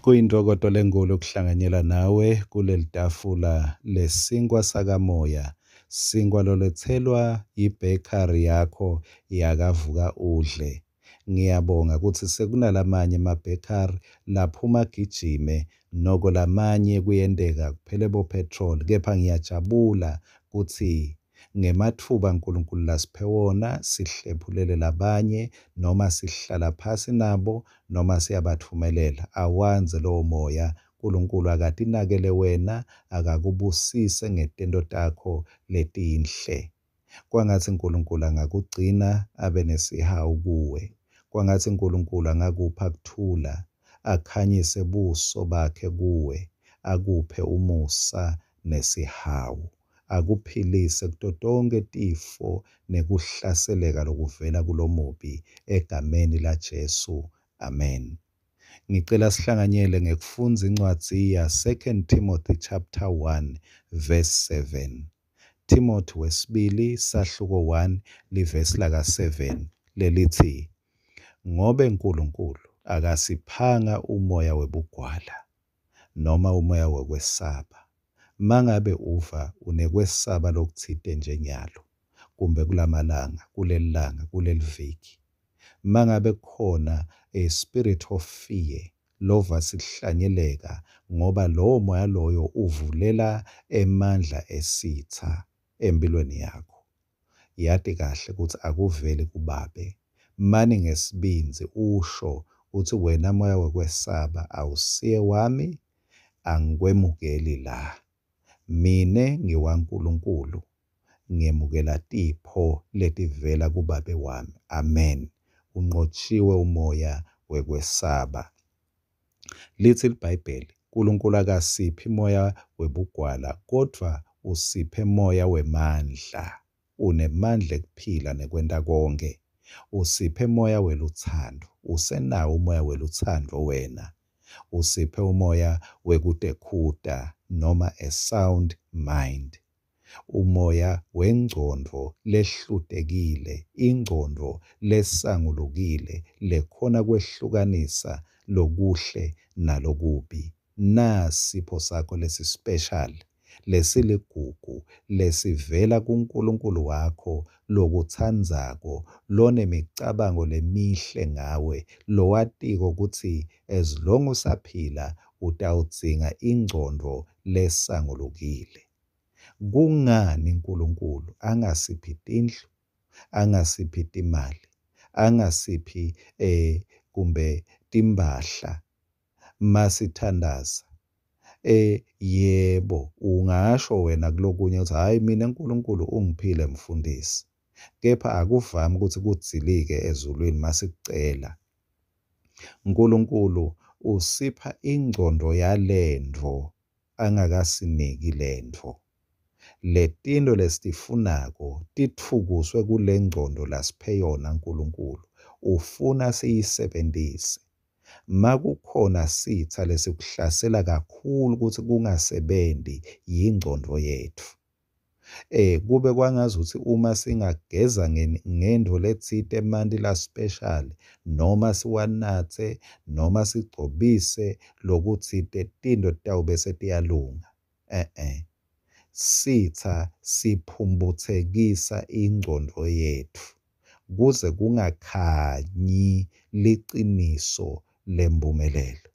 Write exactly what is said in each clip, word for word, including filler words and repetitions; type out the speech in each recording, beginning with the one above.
Kuyintokoto lenkulu ukuhlanganyela nawe kuleli tafula lesinkwa sakamoya, sinkwa loletselwa yi-bakery yakho yakaVuka Udle. Ngiyabonga kutsi sekunalamanye ema-bakery laphuma agijime, noko lamanye kuyenteka kuphele bo-petrol, kepha ngiyajabula kutsi ngematfuba Nkulunkulu lasiphe wona sihlephulele labanye noma sihlala phasi nabo noma siyabatfumelela. Awandze lowo moya. Nkulunkulu akatinakele wena, akakubusise ngetento takho letinhle. Kwangatsi Nkulunkulu angakugcina abe nesihawu kuwe. Kwangatsi Nkulunkulu angakupha kuthula, akhanyise buso bakhe kuwe, akuphe umusa nesihawu, akuphilise kuto tonkhe tifo nekuhlaseleka lokuvela kulomubi, egameni laJesu. Amen. Ngicela sihlanganyele ngekufundza incwadzi ya Second Timothy chapter one verse seven. Timothy wesibili sahluko one livesi laka seven lelithi, ngobe Nkulunkulu akasiphanga umoya webugwala noma umoya wekwesaba. Mangabe uva unekwesaba lokutsite nje nyalo, kumbe kulamalanga, kulelilanga, kuleliviki, mangabe kukhona a spirit of fear lova sihlanyeleka, ngoba lowo moya loyo uvulela emandla esitha empilweni yakho. Yati kahle kutsi akuveli kubabe. Mani ngesibindzi usho utsi wena moya wekwesaba awusiye wami, angikwemukeli la. Mine ngiwaNkulunkulu, ngiyemukela tipho letivela kubabe wami. Amen. Unqotshiwe umoya wekwesaba. Lithi iBhayibheli, Nkulunkulu akasiphi moya webugwala, kodvwa usiphe moya wemandla. Unemandla ekuphila nekwenta konke. Usiphe moya welutsandvo. Usenawo umoya welutsandvo wena. Usiphe umoya wekutekhuta noma a sound mind. Umoya wengcondvo lehlutekile, ingcondvo lesangulukile, lekhona kwehlukanisa lokuhle nalokubi. Nasipho sakho lesi-special, lesiligugu, lesivela kuNkulunkulu wakho lokutsandzako, lonemicabango lemihle ngawe, lowatiko kutsi as long usaphila utawudzinga ingcondvo lesangulukile. Kungani Nkulunkulu angasiphi tindlu, angasiphi timali, angasiphi eh kumbe timphahla masithandaza? Eh yebo, ungasho wena kulokunye utsi hhayi mina Nkulunkulu ungiphile mfundisi, kepha akuvami kutsi kudzilike ezulwini masikucela. Nkulunkulu usipha ingcondvo yalentfo angakasiniki lentfo. Letinto lesitifunako titfukuswe kule ngcondvo lasiphe yona Nkulunkulu. Ufuna siyisebentise. Makukhona sitsa lesikuhlasela kakhulu kutsi kungasebenti yingcondvo yetfu. Eh kube kwangazuthi uma singageza ngentfo letsite emanti la special noma siwanatse noma sigcobise lokutsite, tintfo titawube setiyalunga. Eh eh. Sitha siphumbuthekisa ingcondvo yetfu kuze kungakhanyi liciniso lempumelelo.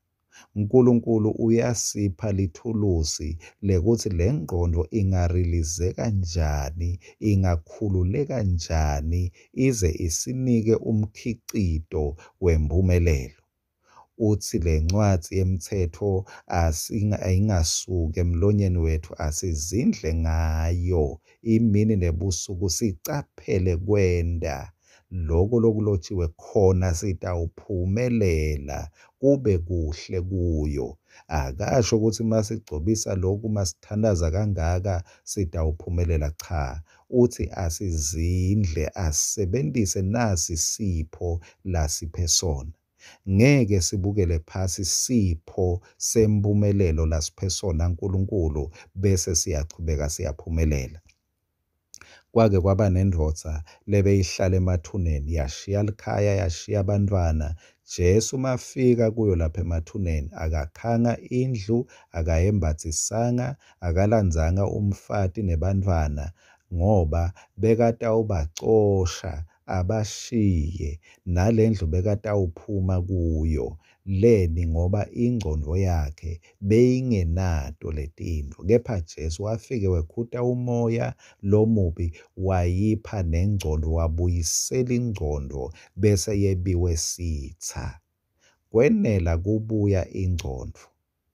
Nkulunkulu uyasipha lithulusi lekutsi lengqondo ingarilizeka njani, ingakhululeka njani, ize isinike umkhicito wempumelelo. Utsi lencwadzi yemtsetfo ayingasuki emlonyeni wetfu, asizindle ngayo imini nebusuku, sicaphele kwenta loko lokulotshiwe khona sitawuphumelela kube kuhle kuyo. Akasho kutsi masigcobisa lokhu, masithandaza kangaka sitawuphumelela. Cha, utsi asizindle, asebentise nasi sipho lasiphe sona. Ngeke sibukele phasi sipho sempumelelo lasiphe sona Nkulunkulu bese siyachubeka siyaphumelela. Kwake kwaba nendvodza lebeyihlala emathuneni, yashiya likhaya, yashiya abantwana. Jesu mafika kuyo lapha emathuneni akakhanga indlu, akayembatsisanga, akalandzanga umfati nebantfwana ngoba bekatawubacosha abashiye, nalendlu bekatawuphuma kuyo. Leni? Ngoba ingcondvo yakhe beyingenato letintfo. Kepha Jesu wafike wekhuta umoya lomubi wayipha nengcondvo, wabuyisela ingcondvo bese yebiwe sitsa. Kwenela kubuya ingcondvo,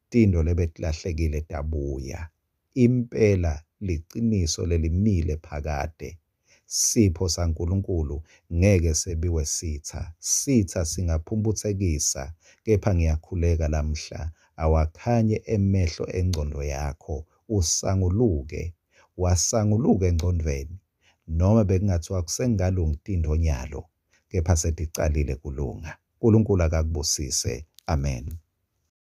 tintfo lebetilahlekile tabuya. Impela liciniso lelimile phakade. Sipho saNkulunkulu ngeke sebiwe sitsa. Sitsa singaphumphutsekisa, kepha ngiyakhuleka lamhla awakhanye emehlo engcondvo yakho, usanguluke, wasanguluka engcondvweni. Noma bekungathiwa kusengalungi tintfo nyalo, kepha seticalile kulunga. Nkulunkulu akakubusise. Amen.